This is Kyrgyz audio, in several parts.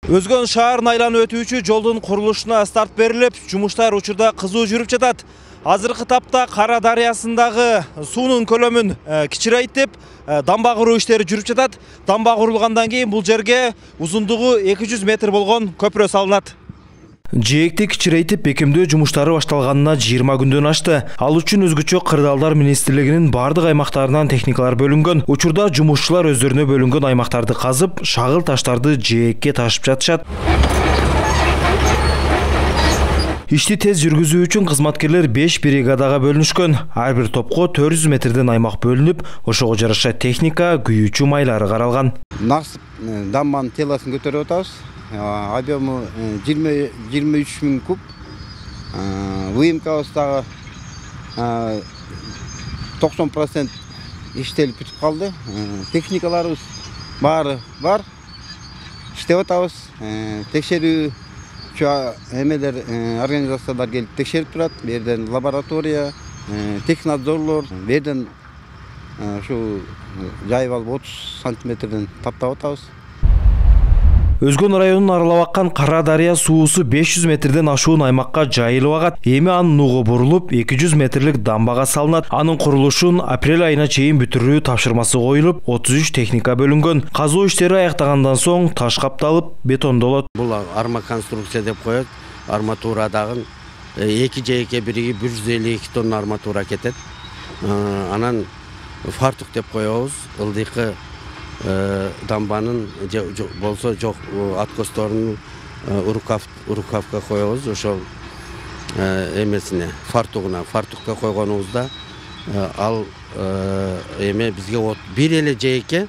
Өзгөн шаарын айланып өтүүчү жолдун курулушуна старт берилип, жумуштар учурда кызуу жүрүп жатат. Азыркы тапта Кара дарыясындагы суунун көлөмүн кичирейтип, дамба куруу иштери жүрүп жатат. Дамба курулгандан кийин бул жерге узундугу 200 метр болгон көпүрө салынат. Жээкти кичирейтип бекемдөө жумуштары башталганына 20 күндөн ашты. Ал үчүн өзгөчө Кырдаалдар министрлигинин бардык аймактарынан техникалар бөлүнгөн. Учурда жумушчулар өздөрүнө бөлүнгөн аймактарды казып, шагыл таштарды жээкке ташып жатышат. Ишти тез жүргүзүү үчүн кызматкерлер 5 бригадага бөлүнүшкөн. Ар бир топко 400 метрден аймак бөлүнүп, ошого жараша техника, күйүүчү майлары каралган. Насып дамбанын теласын көтөрүп атабыз. Объему 23 000 куб. ВМК дагы 90% иштелип бүтүп калды. Техникаларыбыз баары бар. Иштеп атабыз. Текшерүүчү эмелер, организациялар келип текшерип турат. Бу жерден лаборатория, технадзорлор, бу жерден ушу жайып алып 30 сантиметрден таптап атабыз. Өзгөн районун аралап аккан Кара дарыя суусу 500 метрден ашуун аймакка жайылып агат. Эми анын нугу бурулуп, 200 метрлик дамбага салынат. Анын курулушун апрель айына чейин бүтүрүү тапшырмасы коюлуп, 33 техника бөлүнгөн. Казуу иштери аяктагандан соң таш капталып, бетондолот. Бул арма конструкция деп коет. Арматурадагы эки жээкке бириги 152 тонна арматура кетет. Анан фартук деп коебуз. Ылдыйкы дамбанын болсо жок откосторун урукавка коебуз. Ошол эмесине фартукка койгонубузда ал эме бизге бир эле жээкке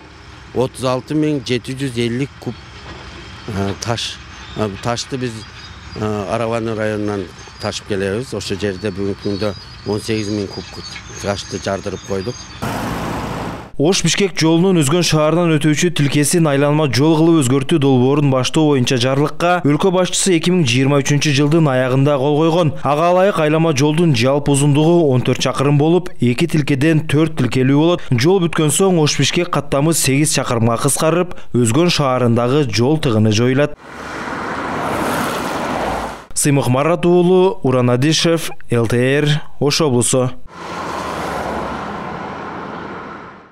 36 750 куб ташты биз Араваны районунан ташып келебиз. Ошол жерде бүгүнкү күндө 18 000 куб ташты жардырып койдук. Ош-Бишкек жолунун Өзгөн шаарынан өтүүчү тилкесин айланма жол кылып өзгөртүү долбоорун баштоо боюнча жарлыкка өлкө башчысы 2023 жылдын аягында кол койгон. Ага ылайык айлама жолдун жалпы узундугу 14 чакырым болуп, 2 тилкеден 4 тилкелүү болот. Жол бүткөн соң Ош-Бишкек каттамы 8 чакырымга кыскарып, Өзгөн шаарындагы жол тыгыны жоюлат. Сыймык Марат уулу, Уран Адишев, ЛТР, Ош облусу.